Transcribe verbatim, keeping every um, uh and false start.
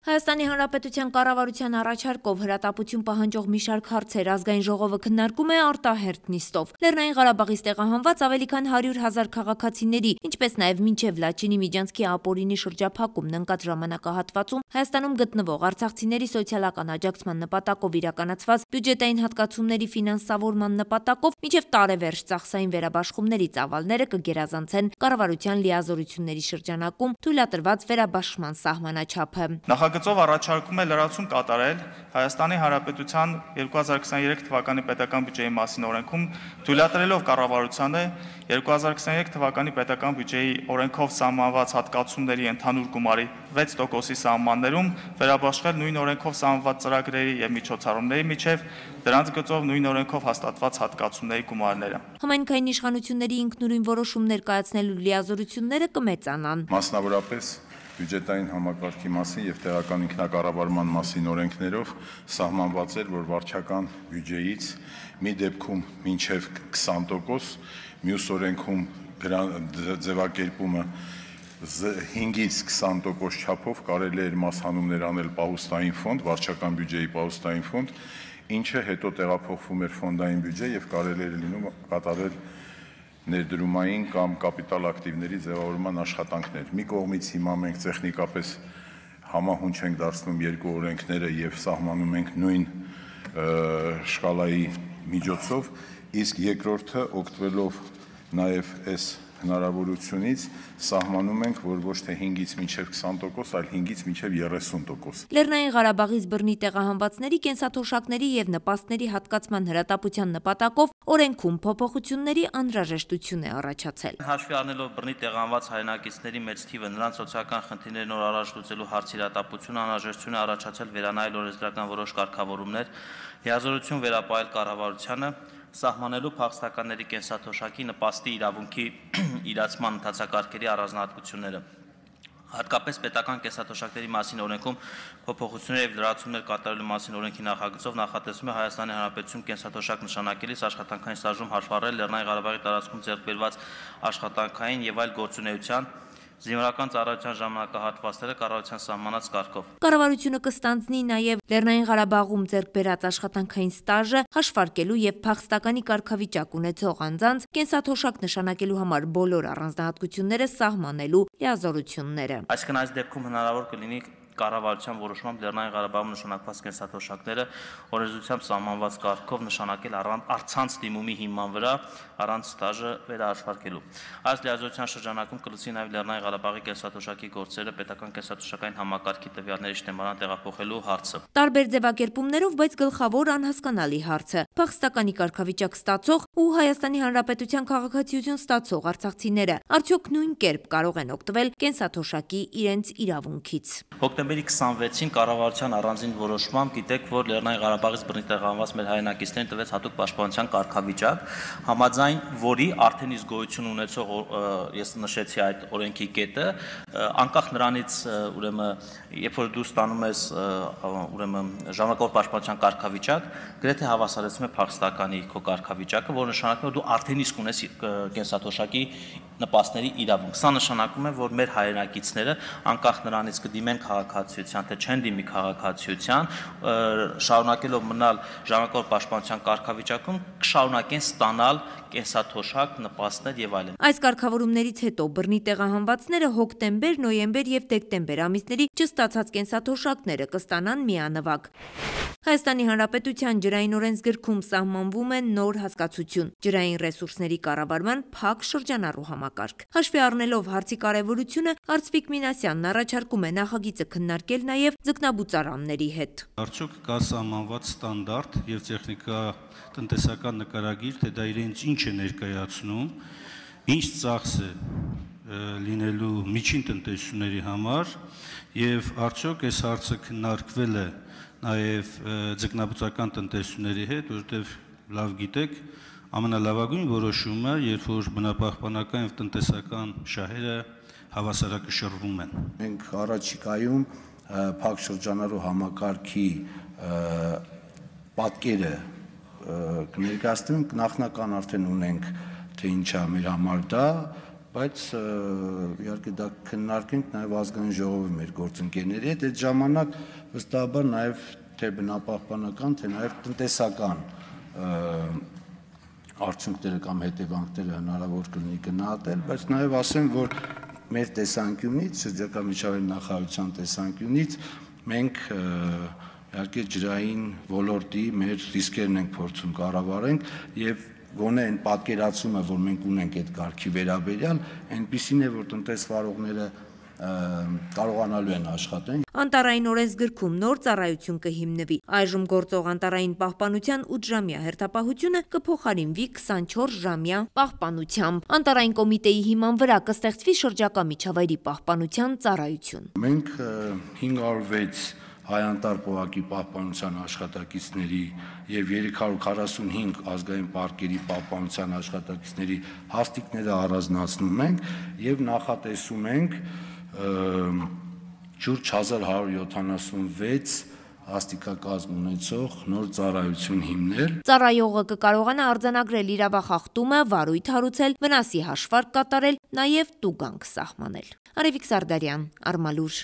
Հայաստանի Հանրապետության կառավարության առաջարկով հրատապություն պահանջող մի շարք հարցեր ազգային ժողովը քննարկում է արտահերթ նիստով։ Լեռնային Ղարաբաղից տեղահանված ավելի քան հարյուր հազար քաղաքացիների, ինչպես նաև մինչև Լաչինի Միջանցքի ապօրինի շրջափակումն ընկած ժամանակահատվածում Հայաստանում գտնվող արցախցիների սոցիալական աջակցման նպատակով իրականացված բյուջետային հատկացումների ֆինանսավորման նպատակով մինչև տարեվերջ ծախսային վերաբաշխումների ծավալները կգերազանցեն կառավարության լիազորությունների շրջանակում թույլատրված վերաբաշխման սահմանաչափը։ Նախագծով առաջարկում է լրացում կատարել Հայաստանի Հանրապետության երկու հազար քսաներեք թվականի պետական բյուջեի մասին օրենքում, թույլատրելով կառավարությանը երկու հազար քսաներեք թվականի պետական բյուջեի օրենքով սահմանված հատկացումների ընդհանուր գումարի վեց տոկոսի սահմաններում վերաբաշխել նույն օրենքով սահմանված ծրագրերի և միջոցառումների միջև դրանց գծով նույն օրենքով հաստատված հատկացումների գումարները։ Համայնքային իշխանությունների ինքնուրույն որոշումներ կայացնելու լիազորությունները կմեծանան։ Մասնավորապես բյուջետային համակարգի մասին և տեղական ինքնակառավարման մասին օրենքներով սահմանված էր, որ վարչական բյուջեից մի դեպքում մինչև քսան տոկոս, մյուս օրենքում ձևակերպումը հինգից քսան տոկոս չափով կարելի էր մասհանումներ անել պահուստային ֆոնդ, վարչական բյուջեի պահուստային ֆոնդ, ինչը հետո տեղափոխվում էր ֆոնդային բյուջե և կարելի էր լինում կատարել ներդրումային կամ կապիտալ ակտիվների ձևավորման աշխատանքներ։ Մի կողմից հիմա մենք տեխնիկապես համահունչ ենք դարձնում երկու օրենքները և սահմանում ենք նույն շկալայի միջոցով, իսկ երկրորդը օգտվելով նաև այս հնարավորությունից սահմանում ենք, որ ոչ թե հինգից մինչև քսան տոկոս, այլ հինգից մինչև երեսուն տոկոս։ Լեռնային Ղարաբաղից բռնի տեղահանվածների կենսաթոշակների և նպաստների հատկացման հրատապության նպատակով օրենքում փոփոխությունների անհրաժեշտություն է առաջացել։ Հաշվի առնելով բռնի տեղահանված հայրենակիցների մեծ թիվը, նրանց սոցիալական խնդիրները նոր առաջ լուծելու հարցի հրատապություն անհրաժեշտություն է առաջացել վերանայել օրենսդրական որոշ կարգավորումներ, լիազորություն վերապահել կառավարությանը, սահմանելու փախստականների կենսաթոշակի նպաստի իրավունքի իրացման ընթացակարգերի առանձնահատկությունները։ Հատկապես պետական կենսաթոշակների մասին օրենքում փոփոխություններ և լրացումներ կատարելու մասին օրենքի նախագծով նախատեսվում է Հայաստանի Հանրապետություն կենսաթոշակ նշանակելիս աշխատանքային ստաժում հաշվառել Լեռնային Ղարաբաղի տարածքում ձեռք բերված աշխատանքային և այլ գործունեության զինվորական ծառայության ժամանակահատվածները կառավարության սահմանած կարգով։ Կառավարությունը կստանձնի նաև Լեռնային Ղարաբաղում ձեռք բերած աշխատանքային ստաժը հաշվարկելու և փախստականի կարգավիճակ ունեցող անձանց կենսաթոշակ նշանակելու համար բոլոր առանձնահատկությունները սահմանելու լիազորությունները։ Այսինքն այս դեպքում հնարավոր կլինի կառավարության որոշմամբ Լեռնային Ղարաբաղում նշանակված կենսաթոշակները օրենսդրությամբ սահմանված կարգով նշանակել առցանց դիմումի հիման վրա առանց ստաժը վերահաշվարկելու։ Այս լիազորության շրջանակում կլսի նաև Լեռնային Ղարաբաղի կենսաթոշակի գործերը պետական կենսաթոշակային համակարգի տվյալների շտեմարան տեղափոխելու հարցը։ Տարբեր ձևակերպումներով, բայց գլխավոր անհասկանալի հարցը՝ փախստականի կարգավիճակ ստացող ու Հայաստանի Հանրապետության քաղաքացիություն ստացող արցախցիները արդյոք նույն կերպ կարող են օգտվել կենսաթոշակի իրենց իրավունքից։ Հոկտեմբերի քսանվեցին կառավարության առանձին որոշմամբ գիտեք, որ Լեռնային Ղարաբաղից բռնի տեղահանված մեր հայրենակիցներին տվեց հատուկ պաշտպանության կարգավիճակ, համաձայն որի արդեն իսկ գոյություն ունեցող ես նշեցի այդ օրենքի կետը, անկախ նրանից, ուրեմն, երբ որ դու ստանում ես ուրեմն ժամանակավոր պաշտպանության կարգավիճակ, գրեթե հավասարեցնում է փախստականի քո կարգավիճակը, որը նշանակում է, որ դու արդեն իսկ ունես կենսաթոշակի նպաստների իրավունք։ Սա նշանակում է, որ մեր հայրենակիցները անկախ նրանից կդիմեն քաղաքացիության, թե չեն դիմի քաղաքացիության, շարունակելով մնալ ժամանակավոր պաշտպանության կարգավիճակում, կշարունակեն ստանալ կենսաթոշակ, նպաստներ եւ այլն։ Այս կարգավորումներից հետո բռնի տեղահանվածները հոկտեմբեր, նոյեմբեր եւ դեկտեմբեր ամիսների չստացած կենսաթոշակները կստանան միանվագ։ Հայաստանի Հանրապետության ջրային օրենսգրքում սահմանվում է նոր հասկացություն՝ ջրային ռեսուրսների կառավարման փակ շրջանառու համակարգ։ Հաշվի առնելով հարցի կարևորությունը, Արծվիկ Մինասյանն առաջարկում է նախագիծը քննարկել նաև ձկնաբուծարանների հետ։ Արդյոք կա սահմանված ստանդարտ եւ տեխնիկա-տնտեսական նկարագիր, թե դա իրենց ինչ է ներկայացնում, ինչ ծախս է լինելու միջին տնտեսությունների համար եւ արդյոք այս հարցը քննարկվել է նաև ձկնաբուծական տնտեսությունների հետ, որովհետև լավ գիտեք, ամենալավագույն որոշումը, երբ որ բնապահպանական եւ տնտեսական շահերը հավասարակշռվում են։ Մենք առաջիկայում փակ շրջանառու համակարգի պատկերը կներկայացնենք, նախնական արդեն ունենք, թե ինչա մեր համար դա, բայց իհարկե դա քննարկենք նաև ազգային ժողովի մեր գործընկերների հետ, այդ ժամանակ վստահաբար նաև թե բնապահպանական, թե նաև տնտեսական արդյունքները կամ հետևանքները հնարավոր կլինի գնահատել, բայց նաև ասեմ, որ մեր տեսանկյունից, շրջակա միջավայրի նախարարության տեսանկյունից մենք իհարկե ջրային ոլորտի մեր ռիսկերն ենք փորձում կառավարենք եւ գոնե այն պատկերացումը, որ մենք ունենք այդ կարգի վերաբերյալ, այնպիսին է, որ տնտեսվարողները կարողանալու են աշխատեն։ Անտարային օրենսգրքում նոր ծառայություն կհիմնվի։ Այժմ գործող անտարային պահպանության ութժամյա հերթապահությունը կփոխարինվի քսանչորս ժամյա պահպանությամբ։ Անտարային կոմիտեի հիման վրա կստեղծվի շրջակա միջավայրի պահպանության ծառայություն։ Մենք հինգ հարյուր վեց հայանտար պողակի պահպանության աշխատակիցների եւ երեք հարյուր քառասունհինգ ազգային պարկերի պահպանության աշխատակիցների հաստիկները առանձնացնում ենք եւ նախատեսում ենք շուրջ հազար հարյուր յոթանասունվեց հաստիկակազմ ունեցող նոր ծառայություն հիմնել։ Ծառայողը կկարողանա արձանագրել իրավախախտումը, վարույթ հարուցել, վնասի հաշվարկ կատարել, նաեւ տուգանք սահմանել։ Արևիկ Սարդարյան, Արմալուր։